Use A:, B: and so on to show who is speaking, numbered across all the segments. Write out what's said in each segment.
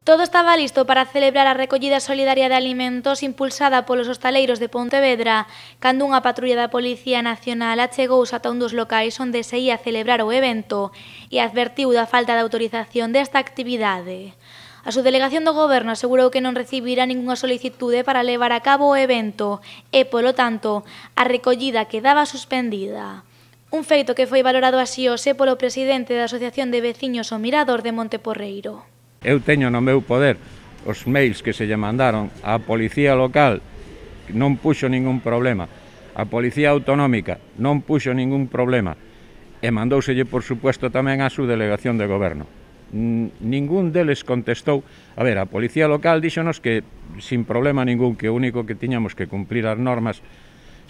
A: Todo estaba listo para celebrar a recollida solidaria de alimentos impulsada polos hostaleiros de Pontevedra cando unha patrulla da Policía Nacional achegouse ata un dos locais onde se ia celebrar o evento e advertiu da falta de autorización desta actividade. A subdelegación do Goberno asegurou que non recibirá ningunha solicitude para levar a cabo o evento e, polo tanto, a recollida quedaba suspendida. Un feito que foi valorado así hoxe polo presidente da Asociación de Veciños O Mirador de Monteporreiro.
B: Eu teño no meu poder os mails que se lle mandaron á Policía Local, que non puxo ningún problema, a Policía Autonómica non puxo ningún problema, e mandóuselle, por supuesto, tamén á subdelegación de Goberno. Ningún deles contestou. A ver, a Policía Local díxonos que sin problema ningún, que o único que tiñamos que cumprir as normas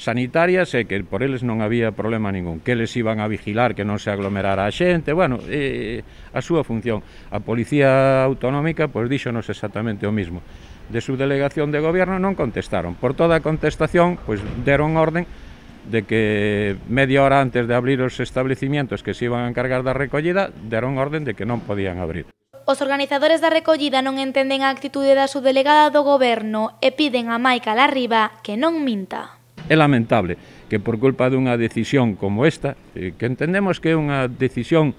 B: sanitarias e que por eles non había problema ningún, que eles iban a vigilar que non se aglomerara a xente, bueno, a súa función. A Policía Autonómica pois díxonos exactamente o mismo. De subdelegación de Goberno non contestaron. Por toda a contestación, pois deron orden de que media hora antes de abrir os establecimientos que se iban a encargar da recollida, deron orden de que non podían abrir.
A: Os organizadores da recollida non entenden a actitude da subdelegada do Goberno e piden a Maica Larriba que non minta.
B: É lamentable que por culpa dunha decisión como esta, que entendemos que é unha decisión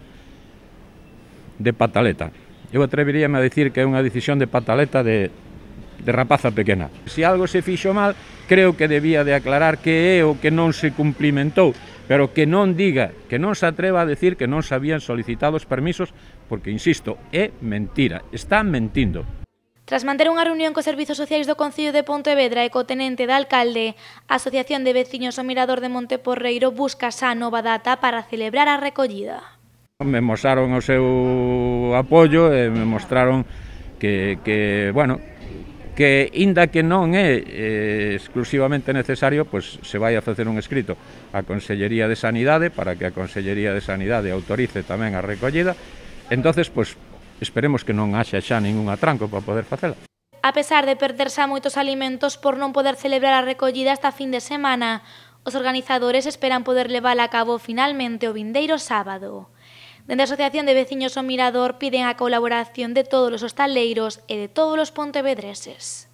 B: de pataleta, eu atreveríame a decir que é unha decisión de pataleta de rapaza pequena. Se algo se fixo mal, creo que debía de aclarar que é o que non se cumplimentou, pero que non diga, que non se atreva a decir que non se habían solicitado os permisos, porque, insisto, é mentira, está mentindo.
A: Tras manter unha reunión cos servizos sociais do Concello de Pontevedra e co tenente de alcalde, a Asociación de Veciños O Mirador de Monteporreiro busca xa nova data para celebrar a recollida.
B: Me mostraron o seu apoio e me mostraron que inda que non é exclusivamente necesario, pois se vai a facer un escrito á Consellería de Sanidade para que a Consellería de Sanidade autorice tamén a recollida. Entonces, pois, esperemos que non haxa xa ningún atranco para poder facela.
A: A pesar de perderse a moitos alimentos por non poder celebrar a recollida esta fin de semana, os organizadores esperan poder levala a cabo finalmente o vindeiro sábado. Dende a Asociación de Veciños O Mirador piden a colaboración de todos os hostaleiros e de todos os pontevedreses.